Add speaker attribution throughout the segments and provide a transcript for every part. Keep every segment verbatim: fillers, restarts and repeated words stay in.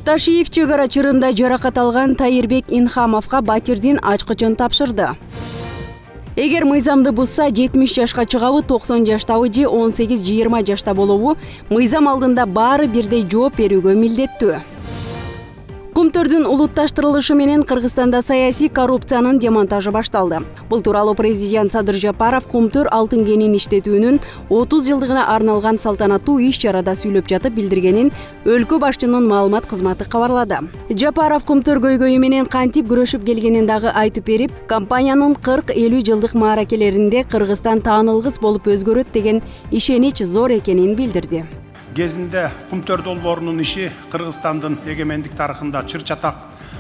Speaker 1: Ташиев чек ара чырында жаракат алган Тайырбек Инхамовго батирдин ачкычын тапшырды. Эгер мыйзамды бузса жетимиш жашка чыгабы, токсон жаштабы же он сегиз жыйырма жашта болобу, мыйзам алдында баары бирдей жооп берүүгө милдеттүү. Кумтөрдүн улутташтырылышы менен Кыргызстанда саясий коррупциянын демонтажы башталды. Бул тууралуу президент Садыр Жапаров Кумтөр алтын кенин иштетүүнүн отуз жылдыгына арналган салтанаттуу иш-чарада сүйлөп жатып билдиргенин өлкө башчынын маалымат кызматы кабарлады. Жапаров Кумтөр көйгөйү менен кантип күрөшүп келгенин дагы айтып берип, компаниянын кырк элүү жылдык мааракелеринде Кыргызстан таанылгыс болуп өзгөрөт деген ишенич зор экенин билдирди.
Speaker 2: Кезинде Кумтөр долбоорунун иши Кыргызстандын эгемендик тарыхында чыр-чатак,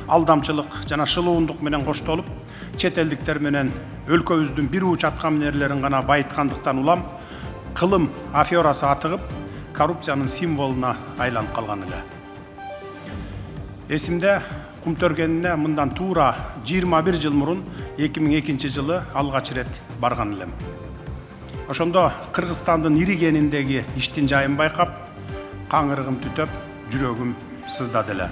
Speaker 2: алдамчылык жана шылуундук менен коштолуп, чет элдиктер менен өлкөбүздүн бир уч аткаминерлерин гана байыткандыктан улам кылым аферасы атыгып, коррупциянын символуна айланып калган эле. Эсимде, Кумтөр кенине мындан туура жыйырма бир жыл мурун эки миң экинчи жылы алгач ирет барган элем. Ошондо Кыргызстандын ири кениндеги иштин жайын байкап, каңырыгым түтөп, жүрөгүм сыздады эле.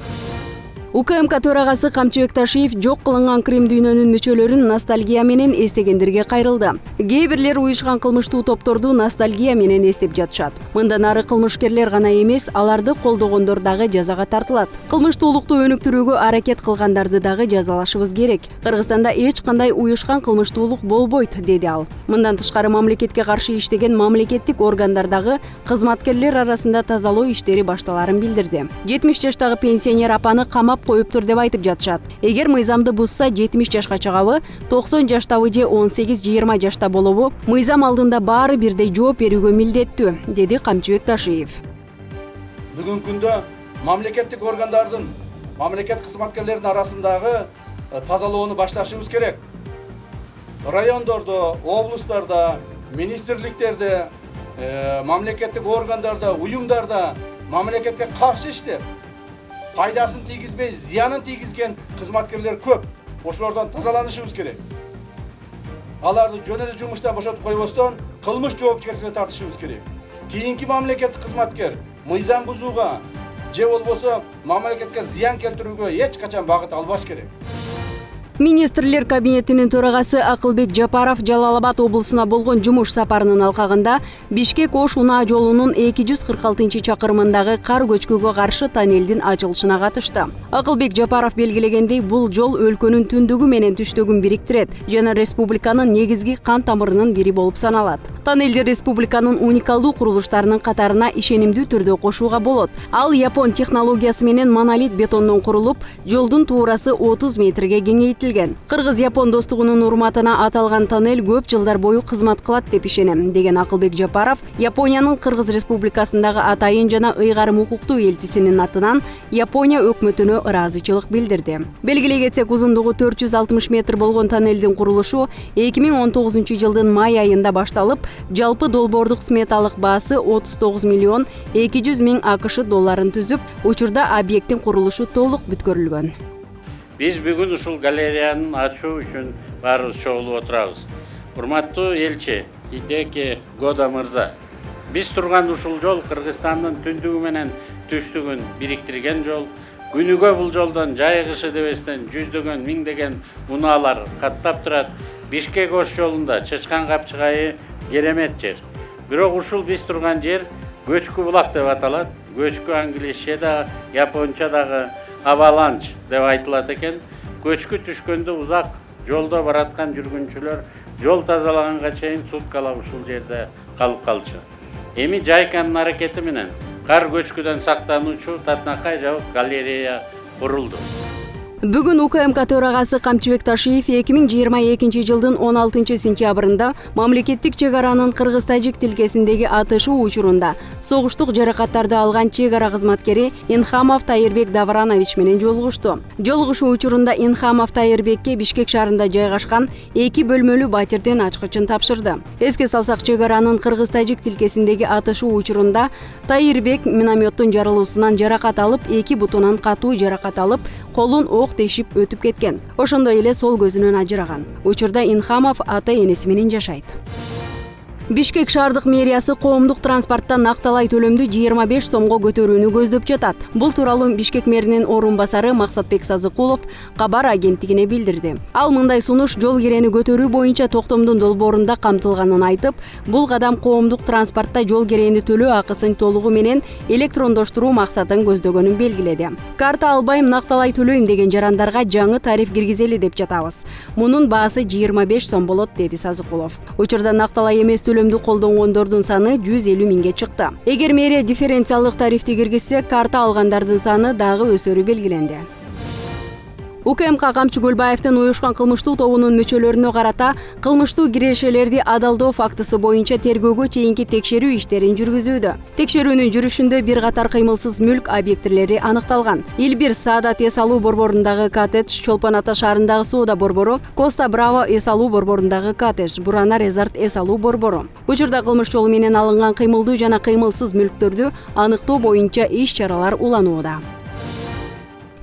Speaker 1: УКМК төрагасы Камчыбек Ташиев жок кылынган Крим дүйнөнүн мүчөлөрүн ностальгия менен эстегендерге кайрылды. Кээ бирлер уюшкан кылмыштуу топторду ностальгия менен эстеп жатышат. Мындан ары кылмышкерлер гана эмес, аларды колдогондор дагы жазага тартылат. Кылмыштуулукту өнүктүрүүгө аракет кылгандарды дагы жазалашыбыз керек. Кыргызстанда эч кандай уюшкан кылмыштуулук болбойт, деди ал. Мындан тышкары мамлекетке каршы иштеген мамлекеттик органдардагы кызматкерлер арасында тазалоо иштери башталарын билдирди. жетимиш жаштагы пенсионер апаны камап коюптур деп айтып жатышат. Эгер мыйзамды бузса жетимиш жашка чыгабы, токсон жаштабы же он сегиз жыйырма жашта болобу, мыйзам алдында баары бирдей жооп берүүгө милдеттүү, деди Камчыбек Ташиев.
Speaker 3: Бүгүнкү күндө мамлекеттик органдардын, мамлекет кызматкерлеринин арасындагы тазалоону башташыбыз керек. Райондордо, облустарда, министрликтерде, мамлекеттик органдарда, уюмдарда мамлекетке каршы иштеп, пайдасын тийгизбей, зыянын тийгизген кызматкерлер көп. Ошолордон тазаланышыбыз керек. Аларды жөн эле жумуштан бошотуп койбостон, кылмыш жоопкерчиликке тартышыбыз керек. Кийинки мамлекеттик кызматкер мыйзам бузууга же болбосо мамлекетке зыян келтирүүгө эч качан багыт албаш керек.
Speaker 1: Министрлер кабинетинин төрагасы Акылбек Жапаров Жалал-Абад облусуна болгон жумуш сапарынын алкагында Бишкек-Ош унаа жолунун эки жүз кырк алтынчы чакырымындагы кар көчкүгө каршы тоннелдин ачылышына катышты. Акылбек Жапаров белгилегендей, бул жол өлкөнүн түндүгү менен түштөгүн бириктирет жана республиканын негизги кан тамырынын бири болуп саналат. Тоннелди республиканын уникалдуу курулуштарынын катарына ишенимдүү түрдө кошууга болот. Ал Япон технологиясы менен монолит бетондон курулуп, жолдун туурасы отуз метрге кеңейтилген. Кыргыз-Япон достугунун урматына аталган тоннель көп жылдар бою кызмат кылат деп ишенем, деген Акылбек Жапаров Япониянын Кыргыз Республикасындагы атайын жана ыйгарым укуктуу элчисинин атынан Япония өкмөтүнө ыраазычылык билдирди. Белгилей кетсек, узундугу төрт жүз алтымыш метр болгон тоннелдин курулушу эки миң он тогузунчу жылдын май айында башталып, жалпы долбоордук сметалык баасы отуз тогуз миллион эки жүз миң АКШ долларын түзүп, учурда объекттин курулушу толук бүткөрүлгөн.
Speaker 4: Биз бүгүн ушул галереяны ачуу үчүн баарыбыз чогулуп отурабыз. Урматтуу элчи Хидеки Года мырза, биз турган ушул жол Кыргызстандын түндүгү менен түштүгүн бириктирген жол. Күнүгө бул жолдон жайыгышы дебестен жүздөгөн миңдеген унаалар каттап турат. Бишкек-Ош жолунда Чычкан капчыгайы керемет жер. Бирок ушул биз турган жер көчкү булак деп аталат. Көчкү англисче да, японча дагы аваланч деп айтылат экен. Көчкү түшкөндө узак жолдо бараткан жүргүнчүлөр жол тазалаганга чейин суткалап ушул жерде калып калчу. Эми Жайканын аракети менен кар көчкүдөн сактануучу татынакай жабык галерея курулду.
Speaker 1: Бүгүн УКМК төрагасы Камчыбек Ташиев эки миң жыйырма экинчи жылдын он алтынчы сентябрында мамлекеттик чек аранын кыргыз-тажик тилкесиндеги атышуу учурунда согуштук жаракаттарды алган чек ара кызматкери Инхамов Тайырбек Давранович менен жолугушту. Жолугушуу учурунда Инхамов Тайырбекке Бишкек шаарында жайгашкан эки бөлмөлүү батирдин ачкычын тапшырды. Эске салсак, чек аранын кыргыз-тажик тилкесиндеги атышуу учурунда Тайырбек минометтун жарылуусунан жаракат алып, эки бутунан катуу жаракат алып, колун ок тешип өтүп кеткен. Ошондой эле сол көзүнөн ажыраган. Учурда Инхамов ата энеси менен жашайт. Бишкек шаардык мэриясы коомдук транспортто накталай төлөмдү жыйырма беш сомго көтөрүүнү көздөп жатат. Бул тууралуу Бишкек мэринин орун басары Максатбек Сазыкулов кабар агенттигине билдирди. Ал мындай сунуш жол кирени көтөрүү боюнча токтомдун долбоорунда камтылганын айтып, бул кадам коомдук транспортто жол кирени төлөө акысын толугу менен электрондоштуруу максатын көздөгөнүн белгиледи. Карта албайм, накталай төлөйм деген жарандарга жаңы тариф киргизели деп жатабыз. Мунун баасы жыйырма беш сом болот, деди Сазыкулов. Учурда накталай эмес төлөмдү колдонгондордун саны жүз элүү миңге чыкты. Эгер мэрия дифференциалдык тарифти киргизсе, карта алгандардын саны дагы өсөрү белгиленди. УКМК Камчы Көлбаевдин уюшкан кылмыштуу тобунун мүчөлөрүнө карата кылмыштуу кирешелерди адалдоо фактысы боюнча тергөөгө чейинки текшерүү иштерин жүргүзүүдө. Текшерүүнүн жүрүшүндө бир катар кыймылсыз мүлк объектилери аныкталган. Илбир Саадат эс алуу борборундагы коттедж, Чолпон Ата шаарындагы соода борбору, Коста Браво эс алуу борборундагы коттедж, Бурана Резорт эс алуу борбору. Учурда кылмыш жолу менен алынган кыймылдуу жана кыймылсыз мүлктөрдү аныктоо боюнча иш-чаралар уланууда.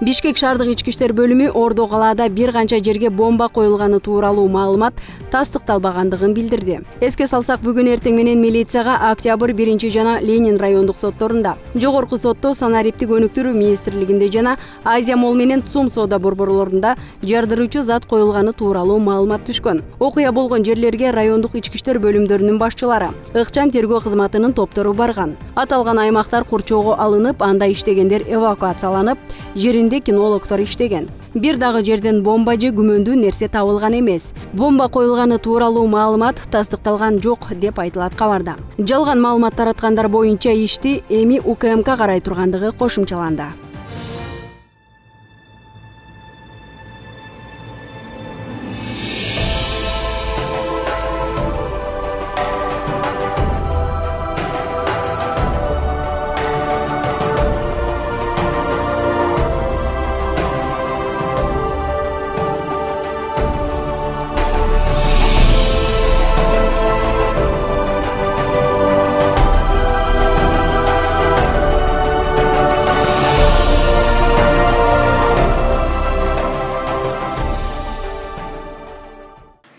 Speaker 1: Бишкек шаардык ички иштер бөлүмү Ордо калаада бир канча жерге бомба коюлганы тууралуу маалымат тастыкталбагандыгын билдирди. Эске салсак, бүгүн эртең менен милицияга Октябрь биринчи жана Ленин райондук сотторунда, Жогорку сотто, санариптик өнүктүрүү министрлигинде жана Азия Молл менен ЦУМ соода борборлорунда жардыруучу зат коюлганы тууралуу маалымат түшкөн. Окуя болгон жерлерге райондук ички иштер бөлүмдөрүнүн башчылары, ыкчам тергөө кызматынын топтору барган. Аталган аймактар курчоого алынып, анда иштегендер эвакуацияланып, жеринде кинологдор иштеген. Бир дагы жерден бомба же күмөндүү нерсе табылган эмес. Бомба коюлганы тууралуу маалымат тастыкталган жок деп айтылат кабарда. Жалган маалымат тараткандар боюнча ишти эми УКМК карай тургандыгы кошумчаланды.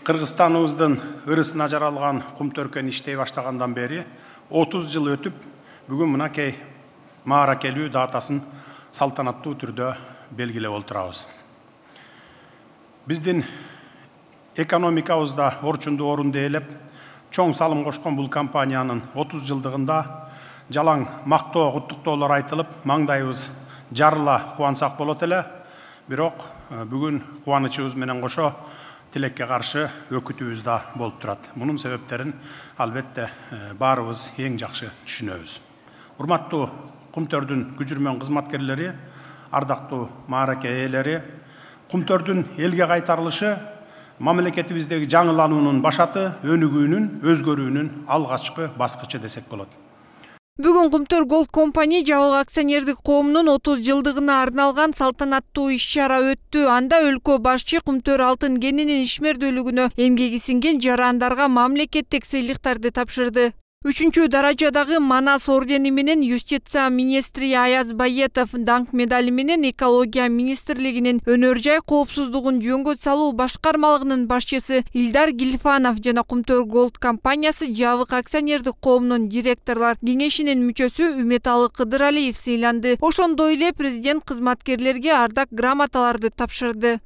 Speaker 2: Кыргызстаныбыздын ырысына жаралган кум төркөн иштей баштагандан бери отуз жыл өтүп, бүгүн мынакей мааракелүү датасын салтанаттуу түрдө белгилеп отурабыз. Биздин экономикабызда орчундуу орунду ээлеп, чоң салым кошкон бул компаниянын отуз жылдыгында жалаң мактоо, куттуктоолор айтылып, маңдайыбыз жарыла кубансак болот эле. Бирок бүгүн кубанычыбыз менен кошо тилекке каршы өкүтүүбүз да болуп турат. Мунун себептерин албетте баарыбыз эң жакшы түшүнөбүз. Урматтуу Кумтөрдүн күжүрмөн кызматкерлери, ардактуу маараке ээлери, Кумтөрдүн элге кайтарылышы мамлекетибиздеги жаңылануунун башаты, өнүгүүнүн, өзгөрүүнүн алгачкы баскычы десек болот.
Speaker 5: Бүгүн Кумтөр Голд компания жабык акционердик коомунун отуз жылдыгына арналган салтанаттуу иш-чара өттү. Анда өлкө башчы Кумтөр алтын кенинин ишмердүүлүгүнө эмгеги сиңген жарандарга мамлекеттик сыйлыктарды тапшырды. Үчүнчү даражадагы Манас ордени менен юстиция министри Аяз Байетов, даңк медали менен экология министрлигинин өнөр жай коопсуздугун жөнгө салуу башкармалыгынын башчысы Илдар Гилфанов жана Кумтөр Голд компаниясы жабык акционердик коомунун директорлор кеңешинин мүчөсү Үмөталы Кыдыралиев сыйланды. Ошондой эле президент кызматкерлерге ардак грамоталарды тапшырды.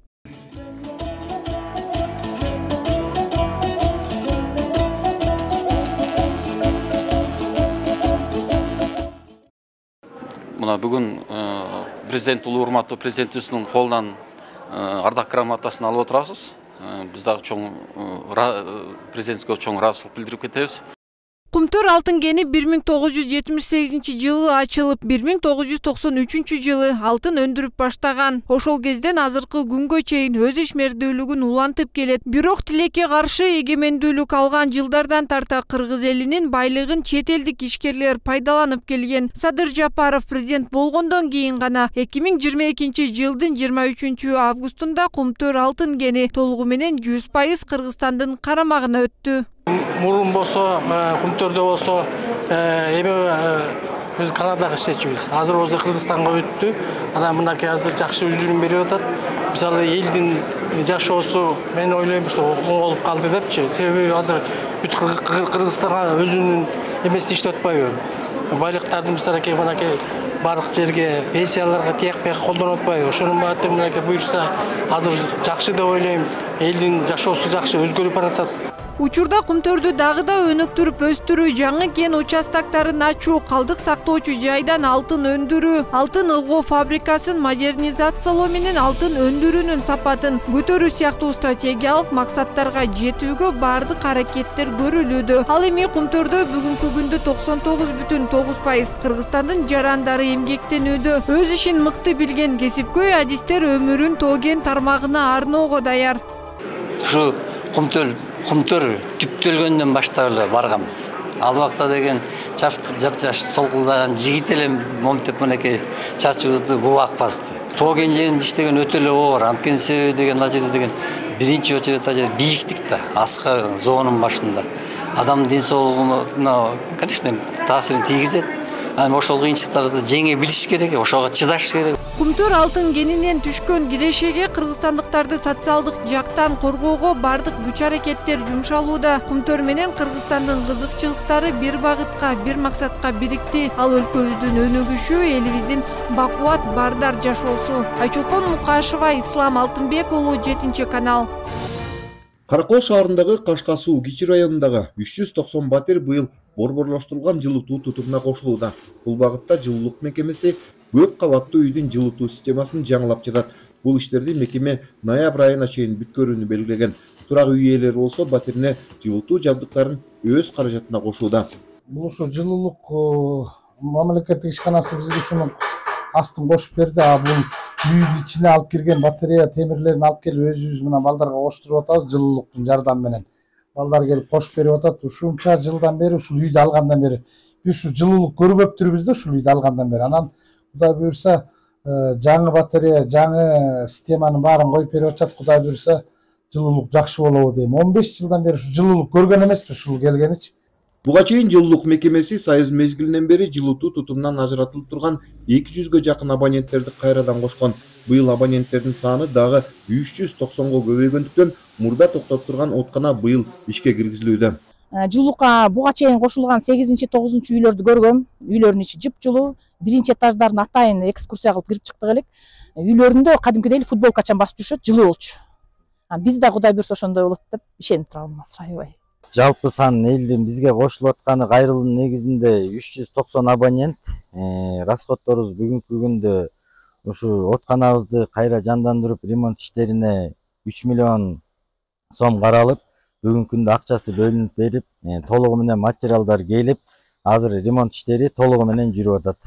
Speaker 6: Мына бүгүн президент улуу урматтуу президентибиздин колунан ардак грамотасын алып отурабыз. Биз дагы чоң президентке чоң ыраазычылык билдирип кетебиз.
Speaker 5: Кумтөр алтын кени бир миң тогуз жүз жетимиш сегизинчи жылы ачылып, бир миң тогуз жүз токсон үчүнчү жылы алтын өндүрүп баштаган. Ошол кезден азыркы күнгө чейин өз ишмердүүлүгүн улантып келет. Бирок тилекке каршы эгемендүүлүк алган жылдардан тарта кыргыз элинин байлыгын чет элдик ишкерлер пайдаланып келген. Садыр Жапаров президент болгондон кийин гана эки миң жыйырма экинчи жылдын жыйырма үчүнчү августунда Кумтөр алтын кени толугу менен жүз пайыз Кыргызстандын карамагына өттү.
Speaker 7: Мурун болсо, Кумтөрдө болсо, эми биз Канадага иштечүбүз. Азыр болсо Кыргызстанга өттү. Анан мынакей азыр жакшы үзүрүм берип атат. мисалы элдин жашоосу мен ойлойм что оңолуп калды депчи. Себеби азыр бүт Кыргызстанга өзүнүн эмесин иштеп атпайбы? Байлыктарды мисалыки мынакей барлык жерге пенсияларга тиякпай колдонуп атпайбы? Ошонун баардыгы мынакей буюрса азыр жакшы деп ойлойм. Элдин жашоосу жакшы өзгөрүп баратат.
Speaker 5: Учурда Кумтөрдү дагы да өнүктүрүп өстүрүү, жаңы кен участактарын ачуу, калдык сактоочу жайдан алтын өндүрүү, алтын ылгоо фабрикасын модернизациялоо менен алтын өндүрүүнүн сапатын көтөрүү сыяктуу стратегиялык максаттарга жетүүгө баардык аракеттер көрүлүүдө. Ал эми Кумтөрдө бүгүнкү күндө токсон тогуз бүтүн тогуз пайыз Кыргызстандын жарандары эмгектенүүдө. Өз ишин мыкты билген кесипкөй адистер өмүрүн тоо кен тармагына арноого даяр.
Speaker 8: Ушу Кумтөр Кумтөр түптөлгөндөн баштап эле баргам. Ал убакта деген жап-жаш солкулдаган жигит эле момтеп мынакей чачыбызды бубак басты. Тоо кен жеринде иштеген өтө эле оор. Анткени себеби деген ал жерде деген биринчи очередь ал жер бийиктик да, аска зоонун башында. Адамдын ден соолугуна, конечно, таасирин тийгизет. Анан ошол кыйынчылыктарды жеңе билиш керек, ошого чыдаш керек.
Speaker 5: Кумтөр алтын кенинен түшкөн кирешеге кыргызстандыктарды социалдык жактан коргоого бардык күч аракеттер жумшалууда. Кумтөр менен Кыргызстандын кызыкчылыктары бир багытка, бир максатка бирикти. Ал өлкөбүздүн өнүгүшү, элибиздин бакубат бардар жашоосу. Айчолпон Мукашева, Ислам Алтынбек уулу, жетинчи канал.
Speaker 9: Каракол шаарындагы Кашка суу кичи районундагы үч жүз токсон батир быйыл борборлоштурулган жылытуу тутумуна кошулууда. Бул багытта жылуулук мекемеси көп кабаттуу үйдүн жылытуу системасын жаңылап жатат. Бул иштерди мекеме ноябрь айына чейин бүткөрүүнү белгилеген. Турак үй ээлери болсо батирине жылытуу жабдыктарын өз каражатына кошууда.
Speaker 10: Бул ушу жылуулук мамлекеттик ишканасы бизге ушуну астын кошуп берди. А бул үйдүн ичине алып кирген батарея темирлерин алып келип өзүбүз менен балдарга коштуруп атабыз жылуулуктун жардамы менен. Балдар келип кошуп берип атат. Ушунча жылдан бери ушул үйдү алгандан бери биз ушу жылуулук көрбөптүрбүз да ушул үйдү алгандан бери. Анан Кудай буюрса жаңы батарея, жаңы системанын баарын коюп берип атат. Кудай буюрса жылуулук жакшы болобу дейм. он беш жылдан бери ушу жылуулук көргөн эмеспиз ушул келгеничи.
Speaker 9: Буга чейин жылуулук мекемеси Союз мезгилинен бери жылытуу тутумунан ажыратылып турган эки жүзгө жакын абоненттерди кайрадан кошкон. Быйыл абоненттердин саны дагы үч жүз токсонго көбөйгөндүктөн мурда токтоп турган откана быйыл ишке киргизилүүдө.
Speaker 11: Жылуулукка буга чейин кошулган сегизинчи тогузунчу үйлөрдү көргөм. Үйлөрдүн ичи жыпжылуу. Биринчи этаждарын атайын экскурсия кылып кирип чыктык элек. Үйлөрүндө кадимкидей футболкачан басып жүрүшөт, жылуу болчу. Биз да Кудай буюрса ошондой болот деп ишенип турабыз, аябай.
Speaker 12: Жалпы сан элдин бизге кошулуп атканы кайрылуунун негизинде үч жүз токсон абонент. Расходторубуз бүгүнкү күндө ушу отканабызды кайра жандандырып ремонт иштерине үч миллион сом каралып, бүгүнкү күндө акчасы бөлүнүп берип, толугу менен материалдар келип, азыр ремонт иштери толугу менен жүрүп атат.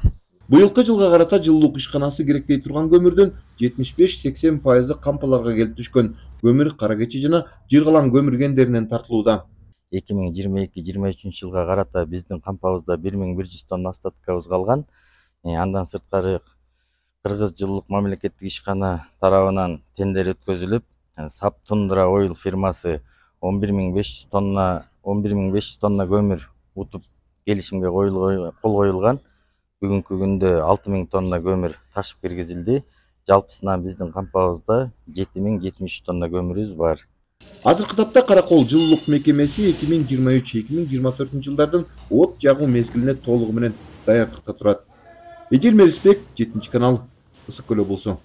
Speaker 9: Быйылкы жылга карата жылуулук ишканасы керектей турган көмүрдүн жетимиш беш сексен пайызы кампаларга келип түшкөн. Көмүр кара кечи жана жыргалан көмүр кендеринен тартылууда.
Speaker 12: эки миң жыйырма эки жыйырма үчүнчү жылга карата биздин кампабызда бир миң бир жүз тонна остаткабыз калган. Андан сырткары Кыргыз жылуулук мамлекеттик ишкана тарабынан тендер өткөзүлүп, Сап Тундра Ойл фирмасы он бир миң беш жүз тонна он бир миң беш жүз тонна көмүр утуп келишимге кол коюлган. Бүгүнкү күндө алты миң тонна көмүр ташып киргизилди. Жалпысынан биздин кампабызда жети миң жетимиш үч тонна көмүрүбүз бар.
Speaker 9: Азыркы тапта Каракол жылуулук мекемеси эки миң жыйырма үч эки миң жыйырма төртүнчү жылдардын от жагуу мезгилине толугу менен даярдыкта турат. Эдил Мерисбек, жетинчи канал, Ысык Көл облусу.